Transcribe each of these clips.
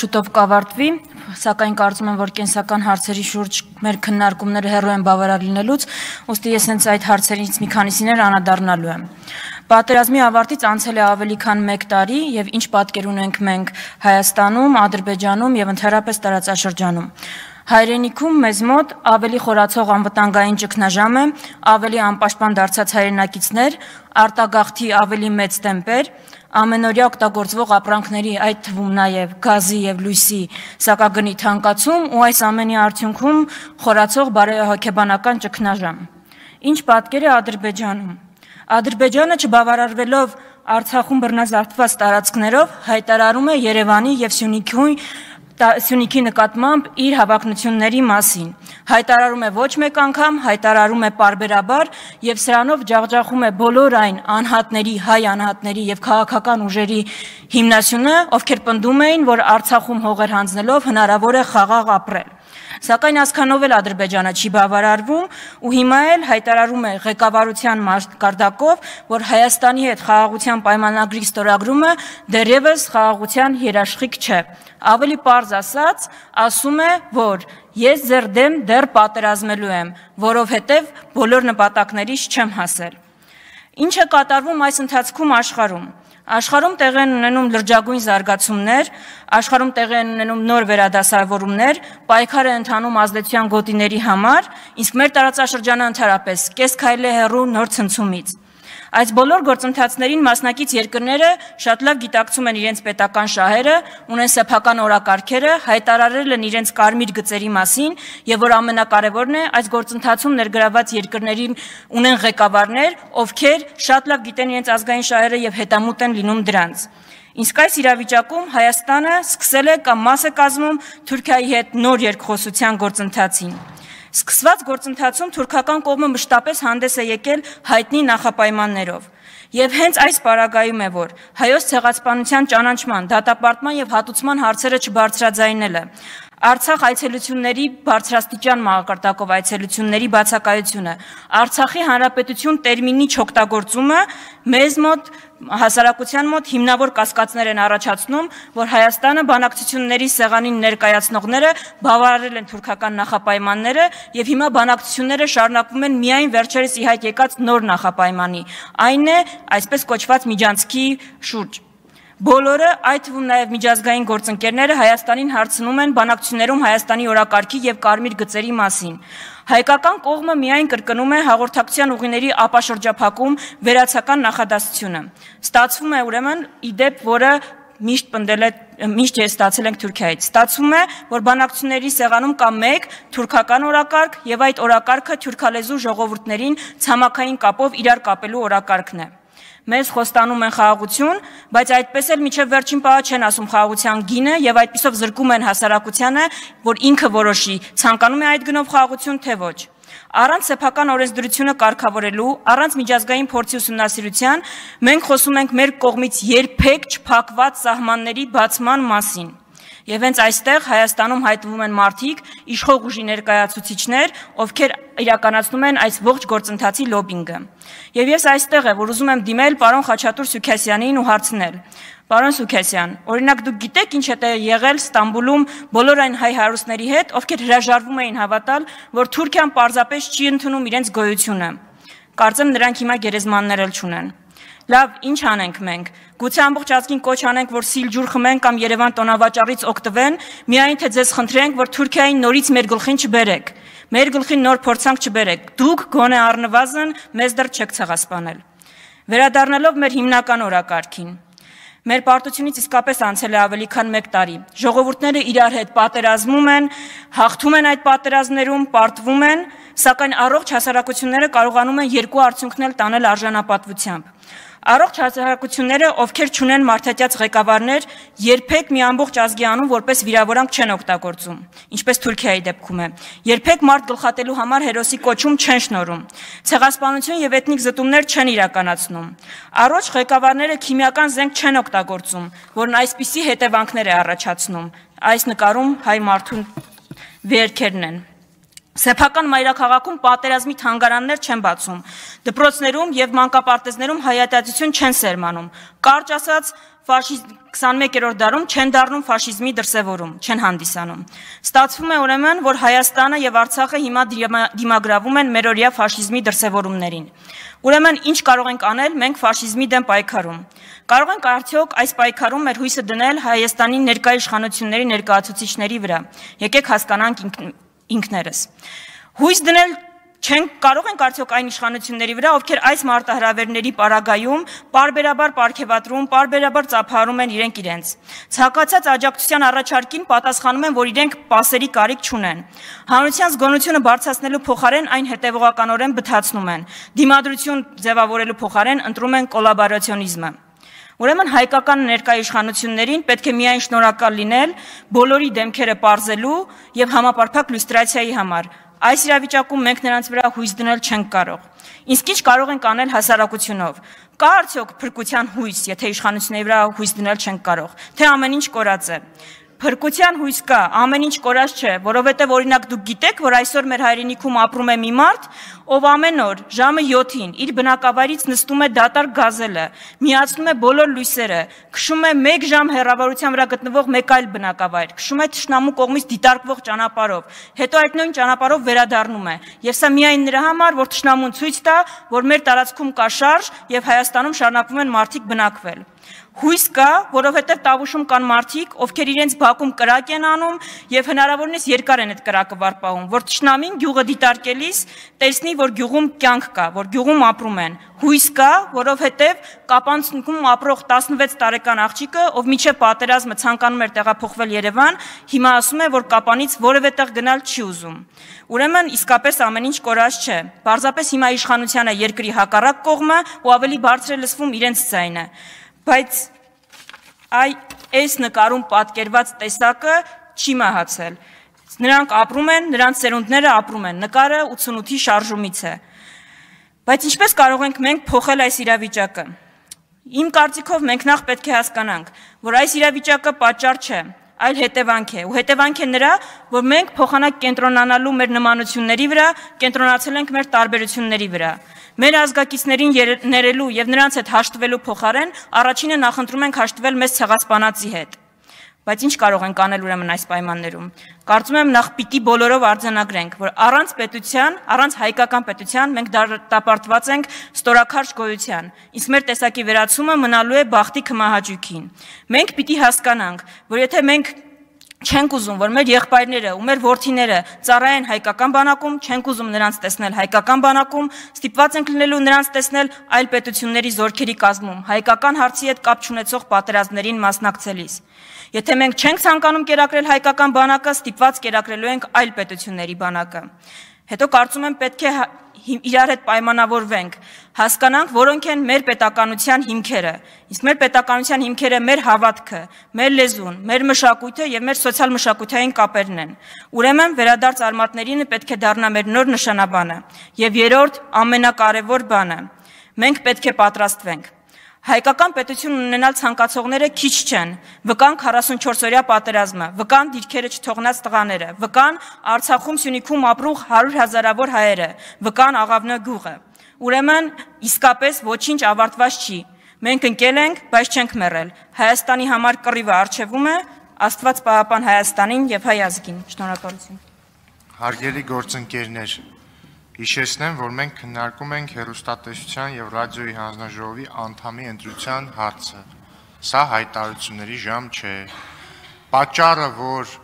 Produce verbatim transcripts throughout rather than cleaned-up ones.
շուտով կավարտվի, սակայն կարծում եմ, որ կենսական հարցերի շուրջ մեր քննարկումները հեռու են բավարար լինելուց, ուստի ես հենց այդ հարցերից մի քանիսիներ անդրադառնալու եմ։ Պատերազմի ավարտից անցել է ավելի քան մեկ տարի եւ ինչ պատկեր ունենք մենք Հայաստանում, Ադրբեջանում եւ ընդհանրապես տարածաշրջանում։ Հայրենիքում մեզ մոտ ավելի խորացող անվտանգային ճգնաժամ է, ավելի անպաշտպան դարձած հայրենակիցներ, արտագաղթի ավելի մեծ տեմպեր, ամենօրյա օգտագործվող ապրանքների, այդ թվում նաև գազի եւ լույսի սակագնի թանկացում ու այս ամենի արդյունքում խորացող բարոյահոգեբանական ճգնաժամ։ Ինչ պատկեր է Ադրբեջանում։ Ադրբեջանը չբավարարվելով Արցախում բռնազավթված տարածքներով հայտարարում է Երևանի եւ Սյունիքի Սյունիքի նկատմամբ իր հավակնությունների մասին, հայտարարում է ոչ մեկ անգամ, հայտարարում է պարբերաբար եւ սրանով ջախջախում է բոլոր այն անհատների, հայ անհատների եւ քաղաքական ուժերի հիմնասյունը, ովքեր պնդում էին, որ Արցախում հողեր հանձնելով հնարավոր է խաղաղ ապրել։ Սակայն այսքանով էլ Ադրբեջանը չի բավարարվում ու հիմա էլ հայտարարում է ղեկավարության մակարդակով, որ Հայաստանի հետ խաղաղության պայմանագրի ստորագրումը դեռևս խաղաղության երաշխիք չէ։ Ավելի պարզ ասած, ասում է, որ ես ձեր դեմ դեռ պատերազմելու եմ, որովհետև բոլոր նպատակներից չեմ հասել։ Ինչ է կատարվում այս ընթացքում աշխարհում։ Աշխարհում տեղի են ունենում լրջագույն զարգացումներ, աշխարհում տեղի են ունենում նոր վերադասավորումներ, պայքար է ընթանում ազդեցության գոտիների համար, իսկ մեր տարածաշրջանը ընդհանրապես կես քայլ է հեռու նոր ցնցումից։ Այս բոլոր գործընթացներին մասնակից երկրները շատ լավ գիտակցում են իրենց պետական շահերը, ունեն սեփական օրակարգերը, հայտարարել են իրենց կարմիր գծերի մասին եւ որ ամենակարևորն է, այս գործընթացում ներգրաված երկրներին ունեն ղեկավարներ, ովքեր շատ լավ գիտեն իրենց ազգային շահերը եւ հետամուտ են լինում դրանց։ Իսկ այս իրավիճակում Հայաստանը սկսել է կամ մաս է կազմում Թուրքիայի հետ նոր երկխոսության գործընթացին։ Սկսված գործընթացում թուրքական կողմը մշտապես հանդես է եկել հայտնի նախապայմաններով։ Եվ հենց այս պարագայում է, որ հայոց ցեղասպանության ճանաչման, դատապարտման եւ հատուցման հարցերը չբարձրաձայնելը, Արցախ այցելությունների բարձրաստիճան մակարդակով այցելությունների բացակայությունը, Արցախի հանրապետություն տերմինի չօգտագործումը մեզ մոտ հասարակության մոտ հիմնավոր կասկածներ են առաջացնում, որ Հայաստանը բանակցությունների սեղանին ներկայացնողները բավարարել են թուրքական նախապայմանները եւ հիմա բանակցությունները շարունակվում են միայն վերջերս ի հայտ եկած նոր նախապայմանի, այն է այսպես կոչված միջանցքի շուրջ։ Բոլորը, այդ թվում նաև միջազգային գործընկերները Հայաստանին հարցնում են բանակցություններում Հայաստանի օրակարգի եւ կարմիր գծերի մասին։ Հայկական կողմը միայն կրկնում է հաղորդակցության ուղիների ապաշրջափակում վերացական նախադասությունը։ Ստացվում է ուրեմն իդեպ, որը միշտ պնդել է, միշտ ստացել ենք Թուրքիայից։ Ստացվում է, որ բանակցությունների սեղանում կա մեկ թուրքական օրակարգ եւ այդ օրակարգը թուրքալեզու ժողովուրդներին ցամաքային կապով իրար կապելու օրակարգն է։ Մեզ խոստանում են խաղաղություն, բայց այդպես էլ միջև վերջին պահը չեն ասում խաղաղության գինը եւ այդպիսով զրկում են հասարակությանը, որ ինքը որոշի, ցանկանում է այդ գնով խաղաղություն թե ոչ։ Առանց սեփական օրենսդրությունը կարգավորելու, առանց միջազգային փորձի ուսումնասիրության, մենք խոսում ենք մեր կողմից երբեք չփակված սահմանների բացման մասին։ Եվ հենց այստեղ Հայաստանում հայտնվում են մարդիկ, իշխող ուժի ներկայացուցիչներ, ովքեր իրականացնում են այս ողջ գործընթացի լոբինգը։ Եվ ես այստեղ եմ, որ ուզում եմ դիմել պարոն Խաչատուր Սուքասյանին ու հարցնել. Պարոն Սուքասյան, օրինակ դուք գիտեք ինչ է եղել Ստամբուլում բոլոր այն հայ հարուստների հետ, ովքեր հրաժարվում էին հավատալ, որ Թուրքիան պարզապես չի ընդունում իրենց գոյությունը։ Կարծեմ նրանք հիմա գերեզմաններ էլ չունեն։ Լավ, ինչ անենք մենք։ Գուցե ամբողջ ազգին կոչ անենք, որ Սիլջուր խմեն կամ Երևան տոնավաճառից օգտվեն, միայն թե ձեզ խնդրենք, որ Թուրքիային նորից մեր գլխին չբերեք, մեր գլխին նոր փորձանք չբերեք։ Դուք գոնե առնվազն մեզ դեռ չեք ցեղասպանել։ Վերադառնալով մեր հիմնական օրակարգին։ Մեր պարտությունից իսկապես անցել է ավելի քան մեկ տարի։ Ժողովուրդները իրար հետ պատերազմում են, հաղթում են այդ պատերազմներում, պարտվում են, սակայն առողջ հասարակությունները կարողանում են երկու արդյունքներ տանել արժանապատվությամբ։ Առողջ հասարակությունները, ովքեր չունեն մարդատյաց ղեկավարներ, երբեք մի ամբողջ ազգի անուն որպես վիրավորանք չեն օգտագործում, ինչպես Թուրքիայի դեպքում է։ Երբեք մարդ գլխատելու համար հերոսի կոչում չեն շնորհում։ Ցեղասպանություն եւ էթնիկ զտումներ չեն իրականացնում։ Առողջ ղեկավարները քիմիական զենք չեն օգտագործում, որն այսպիսի հետևանքներ է առաջացնում։ Այս նկարում հայ մարդու վերքերն են։ Սեփական մայրաքաղաքում պատերազմի թանգարաններ չեն բացում, դպրոցներում եւ մանկապարտեզներում հայատյացություն չեն սերմանում, կարճ ասած քսաներորդ դարում չեն դառնում ֆաշիզմի դրսևորում, չեն հանդիսանում։ Ստացվում է ուրեմն, որ Հայաստանը եւ Արցախը հիմա դիմագրավում են մերօրյա ֆաշիզմի դրսևորումներին։ Ուրեմն ինչ կարող ենք անել մենք ֆաշիզմի դեմ պայքարում։ Կարող ենք արդյոք այս պայքարում մեր հույսը դնել Հայաստանի ներկայ իշխանությունների ներկայացուցիչների վրա։ Եկեք հասկանանք ինքներս։ Հույս դնել չենք կարող ենք արդյոք այն իշխանությունների վրա, ովքեր այս մարտահրավերների պարագայում պարբերաբար պարգևատրում, պարբերաբար ծափահարում են իրենք իրենց։ Ցանկացած աջակցության առաջարկին պատասխանում են, որ իրենք պասերի կարիք չունեն։ Հանրության զգոնությունը բարձրացնելու փոխարեն այն հետևողականորեն բթացնում են։ Դիմադրություն ձևավորելու փոխարեն ընտրում են կոլաբորացիոնիզմը։ Ուրեմն հայկական ներկայ իշխանություններին պետք է միայն շնորհակալ լինել բոլորի դեմքերը պարզելու եւ համապարփակ լյուստրացիայի համար։ Այս իրավիճակում մենք նրանց վրա հույս դնել չենք կարող։ Իսկ ինչ կարող ենք անել հասարակությունով։ Կա արդյոք փրկության հույս, եթե իշխանությունների վրա հույս դնել չենք կարող, թե ամեն ինչ կորած է։ Փրկության հույս կա, ամեն ինչ կորած չէ, որովհետև օրինակ դուք գիտեք, որ այսօր մեր հայրենիքում ապրում է մի մարդ, ով ամեն օր ժամը յոթին իր բնակավայրից նստում է դատարկ գազելը, միացնում է բոլոր լույսերը, քշում է մեկ ժամ հեռավորության վրա գտնվող մեկ այլ բնակավայր, քշում է թշնամու կողմից դիտարկվող ճանապարհով, հետո այդ նույն ճանապարհով վերադառնում է։ Եվ սա միայն նրա համար, որ թշնամուն ցույց տա, որ մեր տարածքում կա շարժ եւ Հայաստանում շարունակվում են մարդիկ բնակվել։ Հույս կա, որովհետև Տավուշում կան մարդիկ, ովքեր իրենց բակում կրակ են անում եւ հնարավորինս երկար են այդ կրակը վարպահում, որ թշնամին գյուղը դիտարկելիս տեսնի, որ գյուղում կյանք կա, որ գյուղում ապրում են։ Հույս կա, որովհետև Կապանցքում ապրող տասնվեց տարեկան աղջիկը, ով միջև պատերազմը ցանկանում էր տեղափոխվել Երևան, հիմա ասում է, որ Կապանից որևէ տեղ գնալ չի ուզում։ Ուրեմն իսկապես ամեն ինչ կորած չէ։ Պարզապես հիմա իշխանությանը երկրի հակառակ կողմը ու ավելի բարձր է լսվում իրենց ձայնը։ Բայց այ այս նկարում պատկերված տեսակը չի մահացել։ Նրանք ապրում են, նրանց ծերունդները ապրում են։ Նկարը ութսունութի շարժումից է։ Բայց ինչպես կարող ենք մենք փոխել այս իրավիճակը։ Իմ կարծիքով մենք նախ պետք է հասկանանք, որ այս իրավիճակը պատճառ չէ, այլ հետևանք է։ Ու հետևանք է նրա, որ մենք փոխանակ կենտրոնանալու մեր նմանությունների վրա, կենտրոնացել ենք մեր տարբերությունների վրա։ Մեր ազգակիցներին ներելու եւ նրանց հետ հաշտվելու փոխարեն առաջինը նախընտրում ենք հաշտվել մեզ ցեղասպանածի հետ։ Բայց ինչ կարող ենք անել ուրեմն այս պայմաններում։ Կարծում եմ նախ պիտի բոլորով արձանագրենք, որ առանց պետության, առանց հայկական պետության մենք դատապարտված ենք ստորաքարշ գոյության, իսկ մեր տեսակի վերացումը մնալու է բախտի քմահաճույքին։ Մենք պիտի հասկանանք, որ եթե մենք չենք ուզում, որ մեր եղբայրները ու մեր որդիները ծառայեն հայկական բանակում, չենք ուզում նրանց տեսնել հայկական բանակում, ստիպված ենք լինելու նրանց տեսնել այլ պետությունների զորքերի կազմում, հայկական հարցի հետ կապ չունեցող պատերազմներին մասնակցելիս։ Եթե մենք չենք ցանկանում կերակրել հայկական բանակը, ստիպված կերակրելու ենք այլ պետությունների բանակը։ Հետո կարծում եմ պետք է իրար հետ պայմանավորվենք, հասկանանք, որոնք են մեր պետականության հիմքերը, իսկ մեր պետականության հիմքերը մեր հավատքը, մեր լեզուն, մեր մշակույթը եւ մեր սոցիալ-մշակութային կապերն են։ Ուրեմն վերադարձ արմատներին պետք է դառնա մեր նոր նշանաբանը եւ երրորդ ամենակարևոր բանը։ Մենք պետք է պատրաստվենք։ Հայկական պետություն ունենալ ցանկացողները քիչ չեն, վկան քառասունչորսօրյա պատերազմը, վկան դիրքերը չթողնած տղաները, վկան Արցախում Սյունիքում ապրող հարյուր հազարավոր հայերը, վկան Աղավնո գյուղը։ Ուրեմն իսկապես ոչինչ ավարտված չի։ Մենք ընկել ենք, բայց չենք մեռել։ Հայաստանի համար կռիվը առջևում է, Աստված պահապան Հայաստանին եւ հայ ազգին։ Շնորհակալություն։ Հարգելի գործընկերներ, հիշեցնեմ, որ մենք քննարկում ենք հեռուստատեսության եւ ռադիոյի հանձնաժողովի անդամի ընտրության հարցը։ Սա հայտարարությունների ժամ չէ։ Պատճառը, որ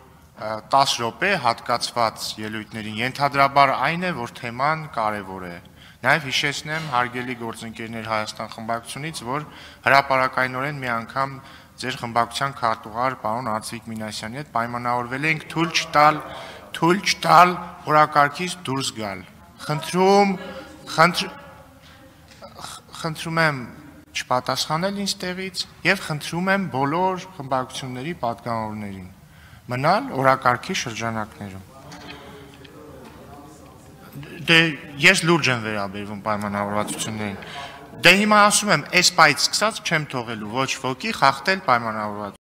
տասը րոպե հատկացված ելույթներին ենթադրաբար այն է, որ թեման կարևոր է։ Նաեւ հիշեցնեմ հարգելի գործընկերներ Հայաստան խմբակցությունից, որ հրապարակայնորեն մի անգամ ձեր խմբակցության քարտուղար պարոն Ացիկ Մինասյանի հետ պայմանավորվել ենք թույլ չտալ, թույլ չտալ օրակարգից դուրս գալ։ Խնդրում, խնդրում եմ չպատասխանել ինձ տեղից եւ խնդրում եմ բոլոր խմբակցությունների պատգամավորներին մնալ օրակարգի շրջանակներում։ Դե ես լուրջ եմ վերաբերվում պայմանավորվածություններին։ Դե հիմա ասում եմ, այս պայից սկսած չեմ թողելու ոչ ոքի խախտել պայմանավորվածությունները։